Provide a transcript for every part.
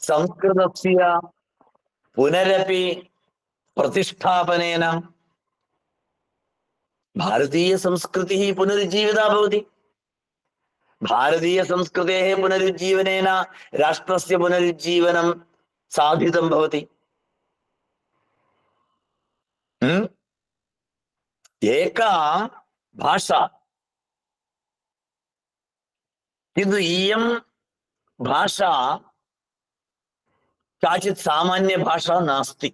संस्कृतस्य पुनरपि प्रतिष्ठापनेन भारतीयसंस्कृतिः पुनरुज्जीविता भवति। भारतीयसंस्कृतेः पुनरुज्जीवनेन राष्ट्रस्य पुनरुज्जीवनं साधितं भवति। एका भाषा, किन्तु इयं भाषा काचित् सामान्य भाषा नास्ति,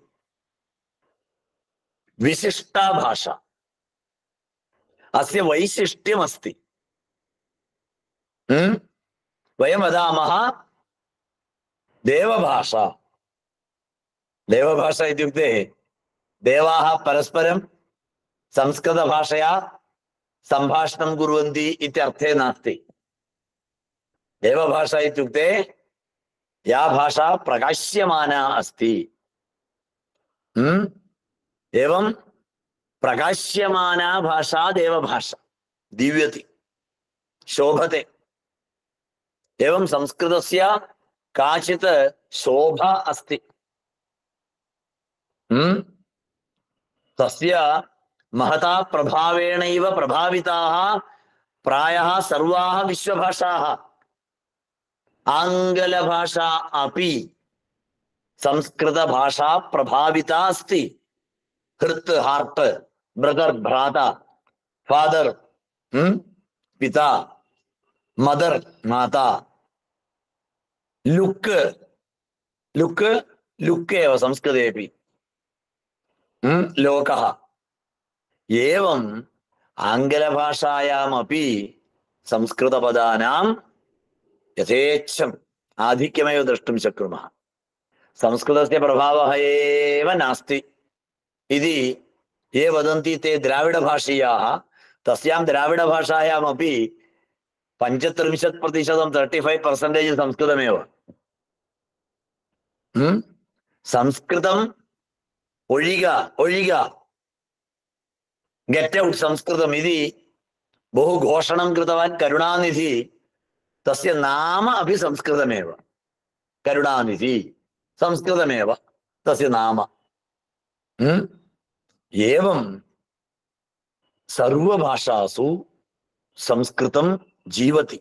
विशिष्टा भाषा। अस्य वैशिष्ट्यमस्ति। वयं वदामः देवभाषा। देवभाषा इत्युक्ते देवाः परस्परं संस्कृतभाषया सम्भाषणं कुर्वन्ति इत्यर्थे नास्ति। देवभाषा इत्युक्ते या भाषा प्रकाश्यमाना अस्ति। एवं प्रकाश्यमाना भाषा देवभाषा, दिव्यति, शोभते। एवं संस्कृतस्य काचित् शोभा अस्ति। तस्य महता प्रभावेणैव प्रभाविताः प्रायः सर्वाः विश्वभाषाः। आङ्ग्लभाषा अपि संस्कृतभाषा प्रभाविता अस्ति। हृत् हार्ट्, ब्रदर् भ्राता, फादर् पिता, मदर् माता, लुक् लुक् लुक् एव संस्कृतेपि लोकः। एवम् आङ्ग्लभाषायामपि संस्कृतपदानां यथेच्छम् आधिक्यमेव द्रष्टुं शक्नुमः। संस्कृतस्य प्रभावः एव नास्ति इति ये वदन्ति ते द्राविडभाषीयाः। तस्यां द्राविडभाषायामपि 35% 35% संस्कृतमेव। संस्कृतम् ഒഴിക गेट् औट् संस्कृतम् इति बहु घोषणं कृतवान् करुणानिधि। तस्य नाम अपि संस्कृतमेव। करुणानिधि संस्कृतमेव तस्य नाम। एवं सर्वभाषासु संस्कृतं जीवति।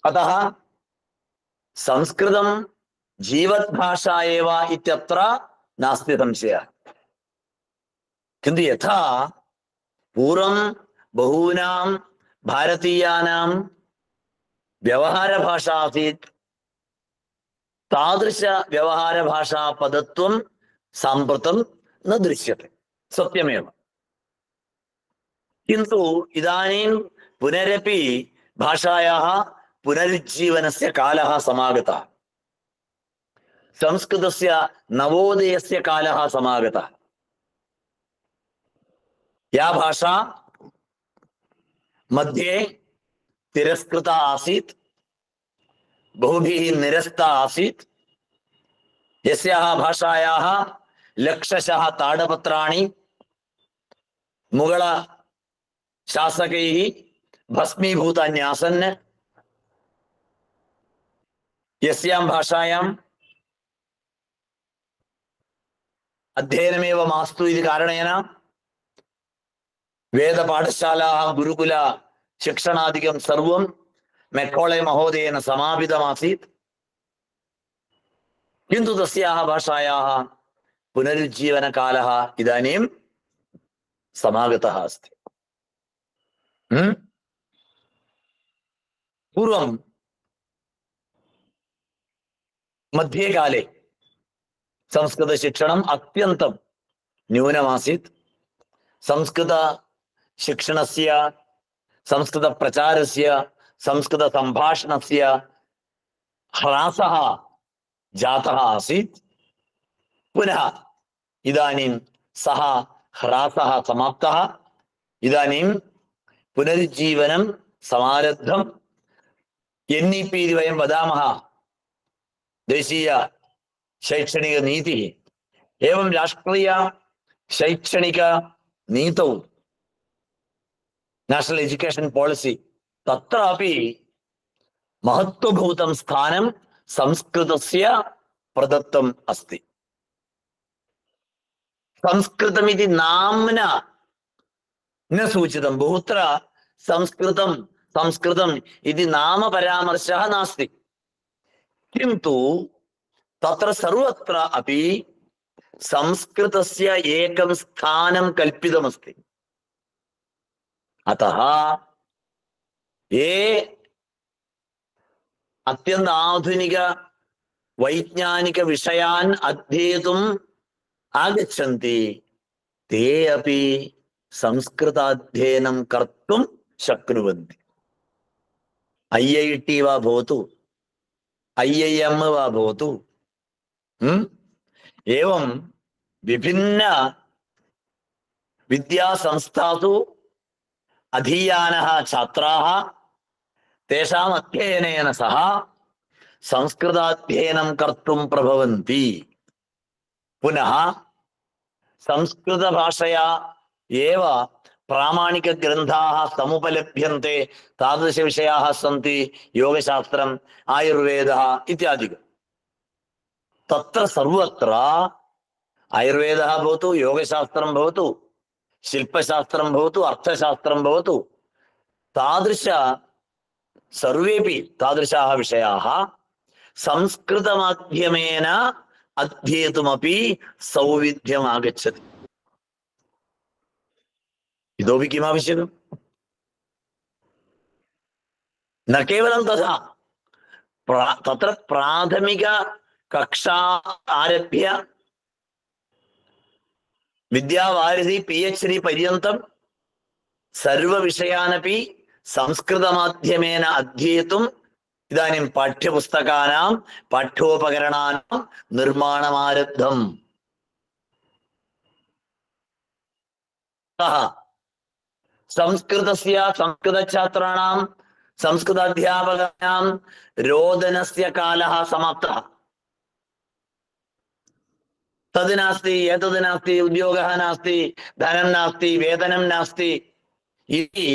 अतः संस्कृतं जीवद्भाषा एव इत्यत्र नास्ति संशयः। किन्तु यथा पूर्वं बहूनां भारतीयानां व्यवहारभाषा आसीत्, तादृश व्यवहारभाषा पदत्वं साम्प्रतं न दृश्यते। सत्यमेव। किन्तु इदानीं पुनरपि भाषायाः पुनरुज्जीवनस्य कालः समागतः। संस्कृतस्य नवोदयस्य कालः समागतः। या भाषा मध्ये तिरस्कृता आसीत्, बहुभिः निरस्ता आसीत्, यस्याः भाषायाः लक्षशः ताडपत्राणि मुगल शासकैः भस्मीभूतानि आसन्, यस्यां भाषायां अध्ययनमेव मास्तु इति कारणेन वेदपाठशालाः गुरुकुल शिक्षणादिकं सर्वं मेक्कोळे महोदयेन समापितमासीत्। किन्तु तस्याः भाषायाः पुनरुज्जीवनकालः इदानीं समागतः अस्ति। पूर्वं मध्यकाले संस्कृतशिक्षणम् अत्यन्तं न्यूनमासीत्। संस्कृतशिक्षणस्य, संस्कृतप्रचारस्य, संस्कृतसम्भाषणस्य ह्रासः जातः आसीत्। पुनः इदानीं सः ह्रासः समाप्तः। इदानीं पुनरुज्जीवनं समारब्धम्। NEP इति वयं वदामः, देशीय शैक्षणिक नीतिः। एवं राष्ट्रीय शैक्षणिक नीतौ नेशनल एजुकेशन पॉलिसी तत्रापि महत्वभूतं स्थानं संस्कृतस्य प्रदत्तम् अस्ति। संस्कृतमिति नाम्ना न सूचितं, बहुत्र संस्कृतं संस्कृतम् इति नाम परामर्शः नास्ति, किन्तु तत्र सर्वत्र अपि संस्कृतस्य एकं स्थानं कल्पितमस्ति। अतः ये अत्यन्त आधुनिक वैज्ञानिक विषयान् अध्येतुम् आगच्छन्ति ते अपि संस्कृताध्ययनं कर्तुं शक्नुवन्ति। IIT वा भवतु, IIM वा भवतु, एवं विभिन्न विद्यासंस्थासु अधीयानः छात्राः तेषाम् अध्ययनेन सह संस्कृताध्ययनं कर्तुं प्रभवन्ति। पुनः संस्कृतभाषया एव प्रामाणिकग्रन्थाः समुपलभ्यन्ते, तादृशविषयाः सन्ति योगशास्त्रम्, आयुर्वेदः इत्यादिकं। तत्र सर्वत्र आयुर्वेदः भवतु, योगशास्त्रं भवतु, शिल्पशास्त्रं भवतु, अर्थशास्त्रं भवतु, तादृश सर्वेपि तादृशाः विषयाः संस्कृतमाध्यमेन अध्येतुमपि सौविध्यम् आगच्छति। इतोपि किम् आवश्यकम्? न केवलं तथा, तत्र प्राथमिक कक्षा आरभ्य विद्यावारिधि PhD पर्यन्तं सर्वविषयानपि संस्कृतमाध्यमेन अध्येतुम् इदानीं पाठ्यपुस्तकानां पाठ्योपकरणानां निर्माणमारब्धम्। संस्कृतस्य संस्कृतछात्राणां संस्कृताध्यापकानां रोदनस्य कालः समाप्तः। तद् नास्ति, एतद् नास्ति, उद्योगः नास्ति, धनं नास्ति, वेतनं नास्ति इति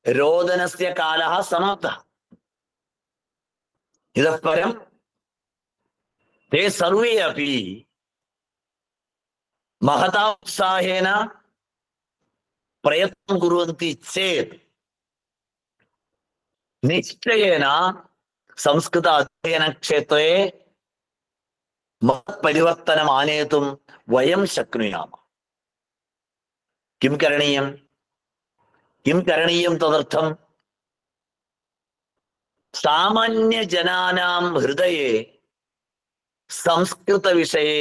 रोदनस्य कालः समाप्तः। इतः परं ते सर्वे अपि महता उत्साहेन प्रयत्नं कुर्वन्ति चेत् निश्चयेन संस्कृत अध्ययनक्षेत्रे महत् परिवर्तनम् आनेतुं वयं शक्नुयामः। किं करणीयं? किं करणीयं तदर्थं? सामान्यजनानां हृदये संस्कृतविषये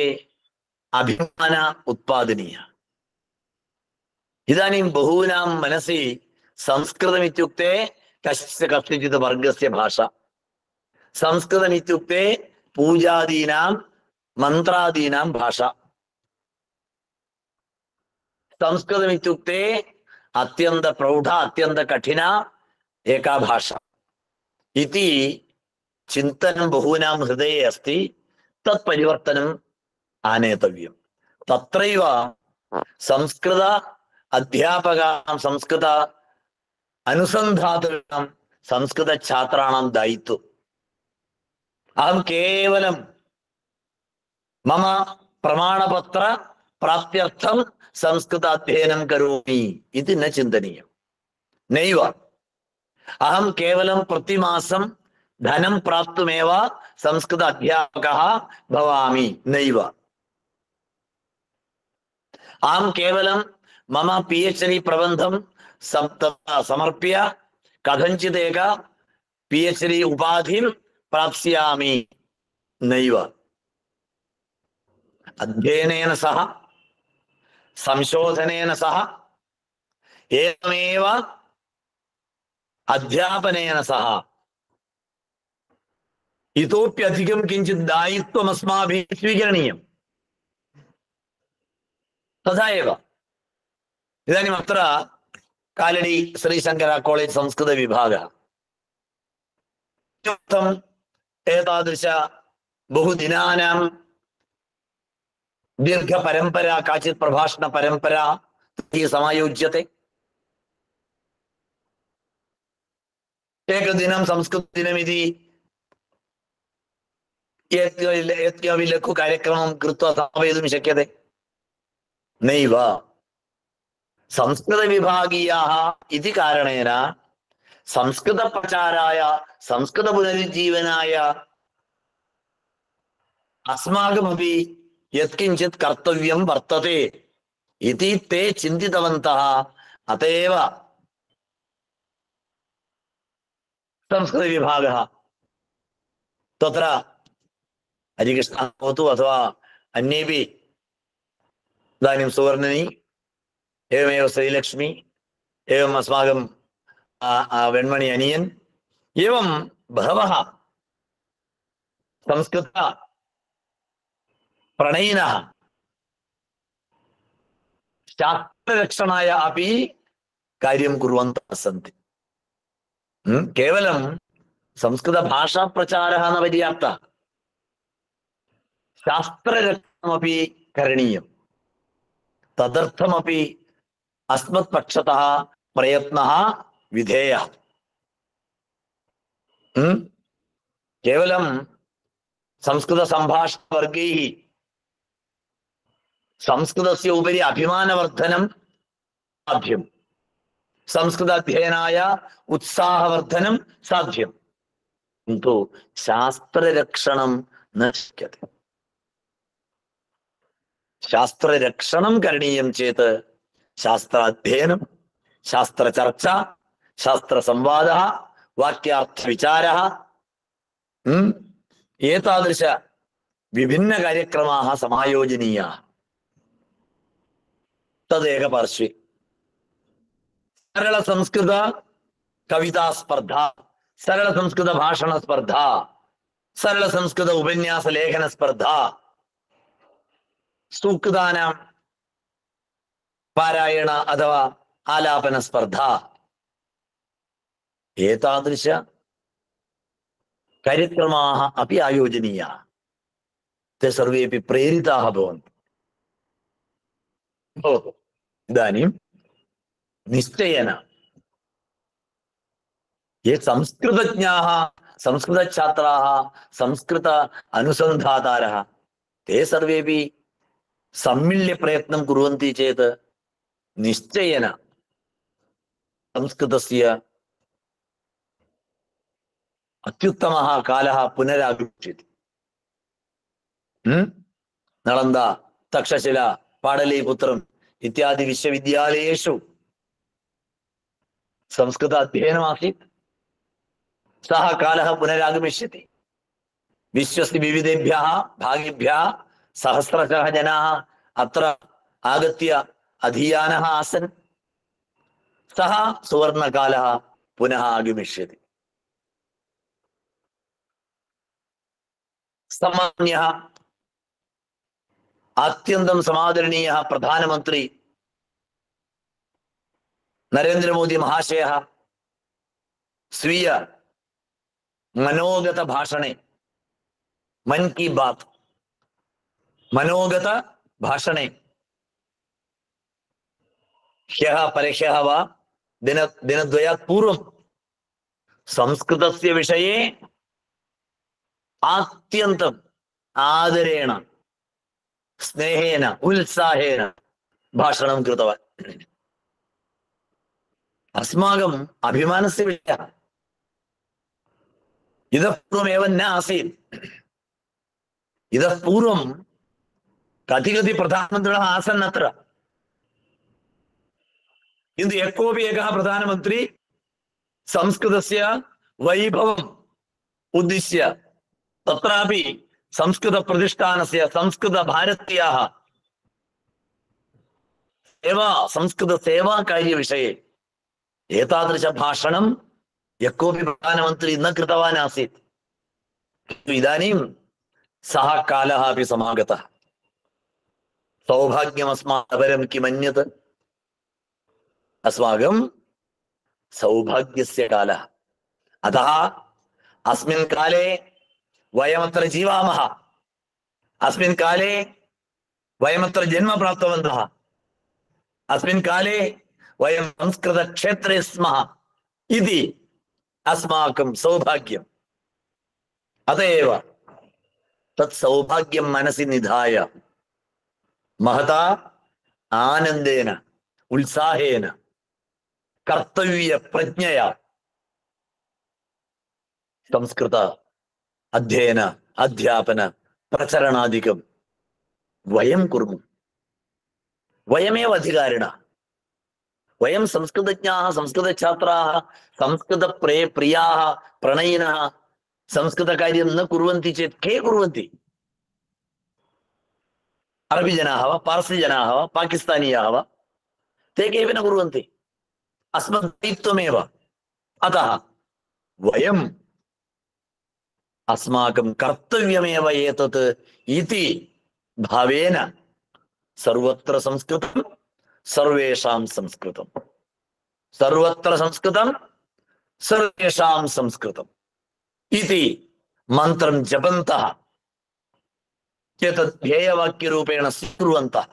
अभिमान उत्पादनीयः। इदानीं बहूनां मनसि संस्कृतमित्युक्ते कस्यचित् वर्गस्य भाषा, संस्कृतमित्युक्ते पूजादीनां मन्त्रादीनां भाषा, संस्कृतमित्युक्ते अत्यन्त प्रौढ अत्यन्त कठिना एका भाषा इति चिन्तनं बहूनां हृदये अस्ति। तत् परिवर्तनम् आनेतव्यं। तत्रैव संस्कृत अध्यापकानां, संस्कृत अनुसन्धातॄणां, संस्कृतछात्राणां दायित्वम्। अहं केवलं मम प्रमाणपत्र प्राप्त्यर्थं संस्कृत अध्ययनं करोमि इति न चिन्तनीयं। नैव, अहं केवलं प्रतिमासं धनं प्राप्तुमेव संस्कृत अध्यापकः भवामि, नैव। अहं केवलं मम PhD प्रबन्धं समर्प्य कथञ्चित् एक PhD उपाधिं प्राप्स्यामि, नैव। अध्ययनेन सह, संशोधनेन सह, एवमेव अध्यापनेन सह इतोप्यधिकं किञ्चित् दायित्वम् अस्माभिः स्वीकरणीयम्। तथा एव इदानीम् अत्र कालडी श्रीशङ्कर कॉलेज संस्कृत विभागः एतादृश बहुदिनानां दीर्घपरम्परा, काचित् प्रभाषणपरम्परा समायोज्यते। एकदिनं संस्कृतदिनमिति यत्किमपि लघु कार्यक्रमं कृत्वा समापयितुं शक्यते नैव। संस्कृतविभागीयाः इति कारणेन संस्कृतप्रचाराय संस्कृतपुनरुज्जीवनाय अस्माकमपि यत्किञ्चित् कर्तव्यं वर्तते इति ते चिन्तितवन्तः। अत एव संस्कृतविभागः तत्र हरिकृष्णः भवतु अथवा अन्येपि इदानीं सुवर्णिनी एवमेव श्रीलक्ष्मी एवम् अस्माकं वेण्मणि अनियन् एवं बहवः संस्कृत प्रणयिनः शास्त्ररक्षणाय अपि कार्यं कुर्वन्तः सन्ति। केवलं संस्कृतभाषाप्रचारः न पर्याप्तः, शास्त्ररक्षणमपि करणीयं। तदर्थमपि अस्मत्पक्षतः प्रयत्नः विधेयः। केवलं संस्कृतसम्भाषणवर्गैः संस्कृतस्य उपरि अभिमानवर्धनं साध्यं, संस्कृताध्ययनाय उत्साहवर्धनं साध्यं, किन्तु शास्त्ररक्षणं न शक्यते। शास्त्ररक्षणं करणीयं चेत् शास्त्राध्ययनं, शास्त्रचर्चा, शास्त्रसंवादः, वाक्यार्थविचारः, एतादृश विभिन्नकार्यक्रमाः समायोजनीयाः। तदेकपार्श्वे सरलसंस्कृत कविता स्पर्धा, सरलसंस्कृत भाषण स्पर्धा, सरलसंस्कृत उपन्यास लेखन स्पर्धा, सूक्तानां पारायण अथवा आलापन स्पर्धा, एतादृश कार्यक्रमाः अपि आयोजनीयाः। ते सर्वेपि प्रेरिताः भवन्ति। इदानीं निश्चयेन ये संस्कृतज्ञाः, संस्कृतछात्राः, संस्कृत अनुसन्धातारः, ते सर्वेपि सम्मिल्य प्रयत्नं कुर्वन्ति चेत् निश्चयेन संस्कृतस्य अत्युत्तमः कालः पुनरागमिष्यति। नलन्दा, तक्षशिला, पाडलीपुत्रम् इत्यादि विश्वविद्यालयेषु संस्कृत अध्ययनमासीत्। सः कालः पुनरागमिष्यति। विश्वस्य विविधेभ्यः भागेभ्यः सहस्रशः जनाः अत्र आगत्य अधीयानः आसन्। सः सुवर्णकालः पुनः आगमिष्यति। सम्मान्यः अत्यन्तं समादरणीयः प्रधानमन्त्री नरेंद्र मोदी महाशयः स्वीय मनोगत भाषणे, मन की बात मनोगत भाषणे ह्यः परह्यः वा दिनद्वयात् पूर्वं संस्कृतस्य विषये आत्यन्तम् आदरेण, स्नेहेन, उत्साहेन भाषणं कृतवान्। अस्माकम् अभिमानस्य विषयः। इतः पूर्वमेव न आसीत्। इतः पूर्वं कति प्रधानमन्त्रिणः आसन् अत्र, किन्तु यः कोऽपि एकः प्रधानमन्त्री संस्कृतस्य वैभवम् उद्दिश्य तत्रापि संस्कृतप्रतिष्ठानस्य, संस्कृतभारत्याः सेवा, संस्कृतसेवाकार्यविषये एतादृश भाषणं यः कोऽपि प्रधानमन्त्री न कृतवान् आसीत्। इदानीं सः कालः अपि समागतः। सौभाग्यमस्मात् अपरं किमन्यत्? अस्माकं सौभाग्यस्य कालः। अतः अस्मिन् काले वयमत्र जीवामः, अस्मिन् काले वयमत्र जन्म प्राप्तवन्तः, अस्मिन् काले वयं संस्कृतक्षेत्रे स्मः इति अस्माकं सौभाग्यम्। अत एव तत् सौभाग्यं मनसि निधाय महता आनन्देन उत्साहेन कर्तव्य प्रज्ञया संस्कृत अध्ययन अध्यापन प्रचरणादिकं वयं कुर्मः। वयमेव अधिकारिणः। वयं संस्कृतज्ञाः, संस्कृतछात्राः, प्रियाः, प्रणयिनः संस्कृतकार्यं न कुर्वन्ति चेत् के कुर्वन्ति? अरबीजनाः वा, पार्सीजनाः वा, पाकिस्तानीयाः वा, ते केऽपि न कुर्वन्ति। अस्मद्दायित्वमेव। अतः वयम् अस्माकं कर्तव्यमेव एतत् इति भावेन सर्वत्र संस्कृतं, सर्वेषां संस्कृतं, सर्वत्र संस्कृतं, सर्वेषां संस्कृतम् इति मन्त्रं जपन्तः एतत् ध्येयवाक्यरूपेण स्वीकुर्वन्तः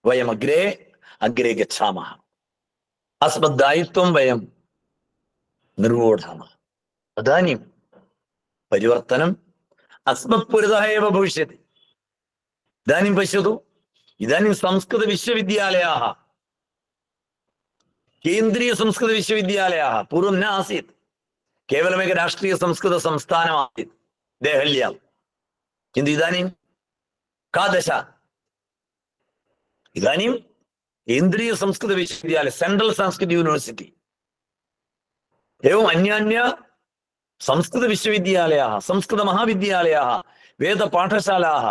वयम् अग्रे गच्छामः। अस्मद्दायित्वं वयं निर्वोढामः। तदानीं परिवर्तनम् अस्मत्पुरतः एव भविष्यति। इदानीं पश्यतु, इदानीं संस्कृतविश्वविद्यालयाः, केन्द्रीयसंस्कृतविश्वविद्यालयाः पूर्वं न आसीत्। केवलमेक राष्ट्रीयसंस्कृतसंस्थानम् आसीत् देहल्यां। किन्तु इदानीं का दशा? इदानीं केन्द्रीयसंस्कृतविश्वविद्यालय, सेण्ट्रल् संस्कृत यूनिवर्सिटी, एवम् अन्यान्य संस्कृतविश्वविद्यालयाः, संस्कृतमहाविद्यालयाः, वेदपाठशालाः,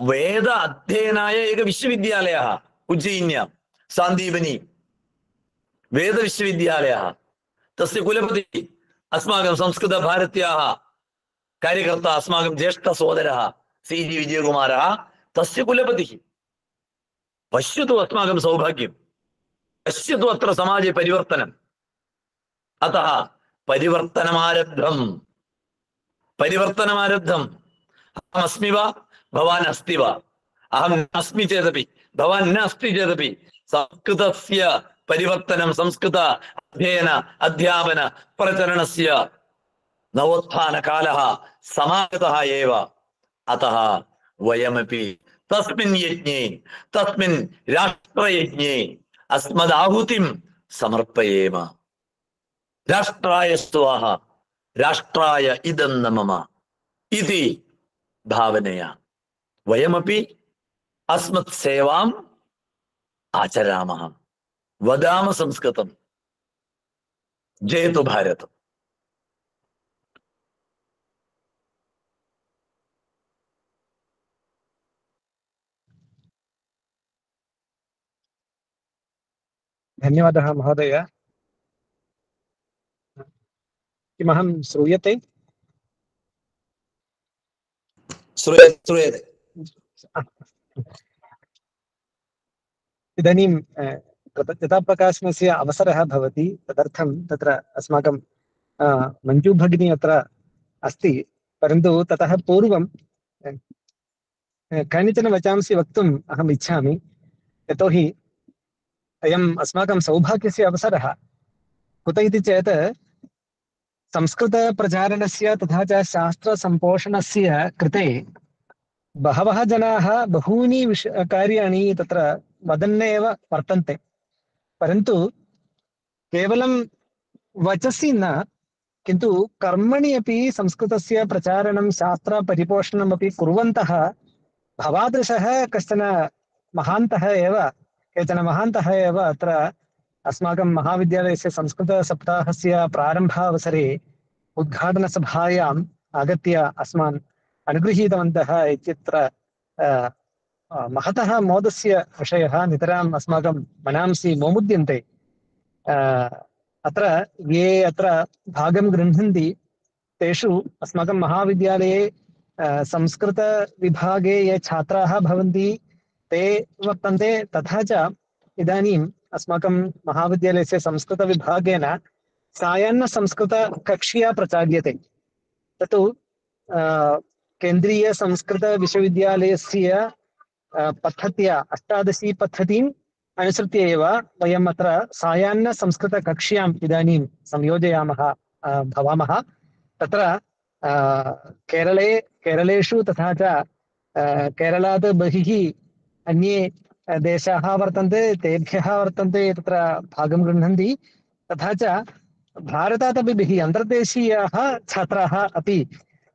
वेद अध्ययनाय एक विश्वविद्यालयः उज्जयिन्यां सान्दीपनी वेदविश्वविद्यालयः। तस्य कुलपतिः अस्माकं संस्कृतभारत्याः कार्यकर्ता, अस्माकं ज्येष्ठसोदरः सी.जी. विजयकुमारः तस्य कुलपतिः। पश्यतु अस्माकं सौभाग्यं, पश्यतु अत्र समाजे परिवर्तनम्। अतः परिवर्तनमारब्धम्। अहमस्मि वा, भवान् अस्ति वा? अहं नास्मि चेदपि, भवान् न अस्ति चेदपि संस्कृतस्य परिवर्तनं, संस्कृत अध्ययन अध्यापन प्रचरणस्य नवोत्थानकालः समागतः एव। अतः वयमपि तस्मिन् यज्ञे, तस्मिन् राष्ट्रयज्ञे अस्मदाहुतिं समर्पयेम। राष्ट्राय स्वाहा, राष्ट्राय इदं न मम इति भावनया वयमपि अस्मत् सेवाम् आचरामः। वदाम संस्कृतं, जयतु भारत। धन्यवादः महोदय। किमहं श्रूयते? श्रूयते। इदानीं कृतज्ञताप्रकाशनस्य अवसरः भवति, तदर्थं तत्र अस्माकं मञ्जु भगिनी अत्र अस्ति। परन्तु ततः पूर्वं कानिचन वचांसि वक्तुम् अहम् इच्छामि। यतोहि अयम् अस्माकं सौभाग्यस्य अवसरः। कुत इति चेत् संस्कृतप्रचारणस्य तथा च शास्त्रसम्पोषणस्य कृते बहवः जनाः बहूनि कार्याणि तत्र वदन्नेव वर्तन्ते। परन्तु केवलं वचसि न, किन्तु कर्मणि अपि संस्कृतस्य प्रचारणं, शास्त्रपरिपोषणमपि कुर्वन्तः भवादृशः कश्चन महान्तः एव, केचन महान्तः एव अत्र अस्माकं महाविद्यालयस्य संस्कृतसप्ताहस्य प्रारम्भावसरे उद्घाटनसभायाम् आगत्य अस्मान् अनुगृहीतवन्तः इत्यत्र महतः मोदस्य विषयः नितराम् अस्माकं मनांसि मोमुद्यन्ते। अत्र ये अत्र भागं गृह्णन्ति तेषु अस्माकं महाविद्यालये संस्कृतविभागे ये छात्राः भवन्ति ते वर्तन्ते। तथा च इदानीम् अस्माकं महाविद्यालयस्य संस्कृतविभागेन सायाह्नसंस्कृतकक्ष्या प्रचाल्यते। तत्तु केन्द्रीयसंस्कृतविश्वविद्यालयस्य पद्धत्या 18 पद्धतिम् अनुसृत्य एव वयम् अत्र सायाह्नसंस्कृतकक्ष्याम् इदानीं संयोजयामः भवामः। तत्र केरलेषु तथा च केरलात् बहिः अन्ये देशाः वर्तन्ते, तेभ्यः वर्तन्ते तत्र भागं गृह्णन्ति। तथा च भारतादपि बहिः अन्तर्देशीयाः छात्राः अपि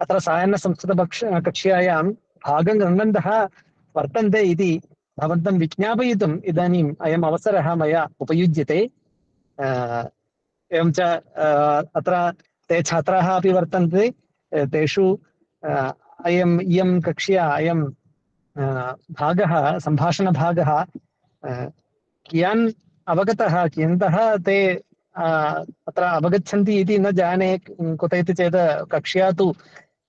अत्र कक्ष्यायां भागं गृह्णन्तः वर्तन्ते इति भवन्तं विज्ञापयितुम् इदानीम् अयम् अवसरः मया उपयुज्यते। एवं च अत्र ते छात्राः अपि वर्तन्ते, तेषु इयं कक्ष्या अयं भागः सम्भाषणभागः कियान् अवगतः, कियन्तः ते अत्र अवगच्छन्ति इति न जाने। कुत इति चेत् कक्ष्या तु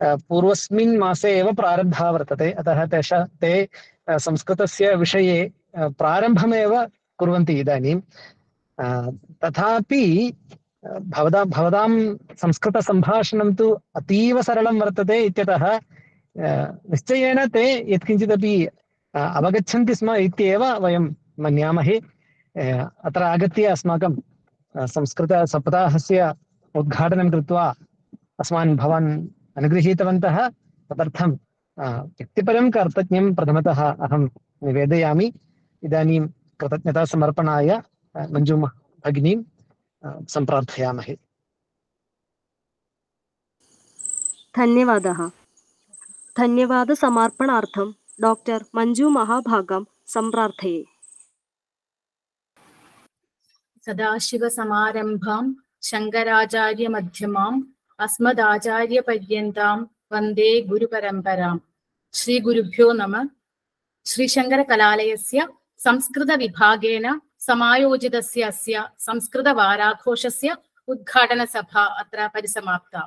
पूर्वस्मिन् मासे एव प्रारब्धा वर्तते, अतः ते संस्कृतस्य विषये प्रारम्भमेव कुर्वन्ति इदानीं। तथापि भवतां संस्कृतसम्भाषणं तु अतीव सरलं वर्तते इत्यतः निश्चयेन ते यत्किञ्चिदपि अवगच्छन्ति स्म इत्येव वयं मन्यामहे। अत्र आगत्य अस्माकं संस्कृतसप्ताहस्य उद्घाटनं कृत्वा अस्मान् भवान् अनुगृहीतवन्तः, तदर्थं व्यक्तिपरं कर्तज्ञं प्रथमतः अहं निवेदयामि। इदानीं कृतज्ञतासमर्पणाय मञ्जु भगिनीं सम्प्रार्थयामहे। धन्यवादः। धन्यवादसमर्पणार्थं डॉक्टर मंजू महाभागं सम्प्रार्थये। सदाशिवसमारम्भां शङ्कराचार्यमध्यमाम् अस्मदाचार्यपर्यन्तां वन्दे गुरुपरम्पराम्। श्रीगुरुभ्यो नमः। श्रीशङ्करकलालयस्य संस्कृतविभागेन समायोजितस्य अस्य संस्कृतवाराघोषस्य उद्घाटनसभा अत्र परिसमाप्ता।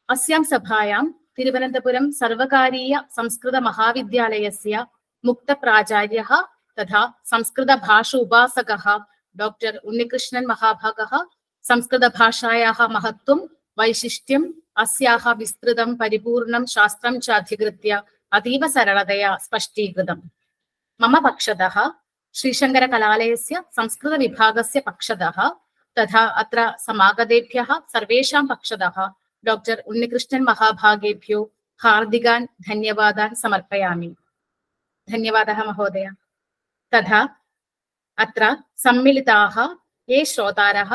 अस्यां सभायां तिरुवनन्तपुरं सर्वकारीय संस्कृतमहाविद्यालयस्य मुक्तप्राचार्यः तथा संस्कृतभाषा उपासकः डॉक्टर उन्निकृष्णन् महाभागः संस्कृतभाषायाः महत्त्वं वैशिष्ट्यम् अस्याः विस्तृतं परिपूर्णं शास्त्रं च अधिकृत्य अतीव सरलतया स्पष्टीकृतम्। मम पक्षतः श्रीशङ्करकलालयस्य संस्कृतविभागस्य पक्षतः तथा अत्र समागतेभ्यः सर्वेषां पक्षतः डॉक्टर उन्निकृष्णन् महाभागेभ्यो हार्दिकान् धन्यवादान् समर्पयामि। धन्यवादः महोदय। तथा अत्र सम्मिलिताः ये श्रोतारः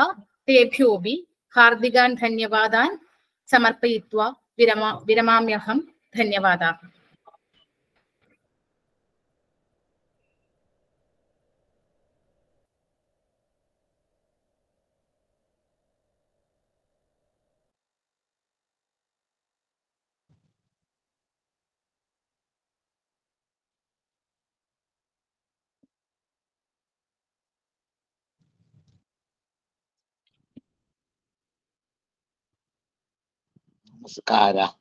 तेभ्योऽपि हार्दिकान् धन्यवादान् समर्पयित्वा विरमाम्यहम्। धन्यवादाः। नमस्कारः।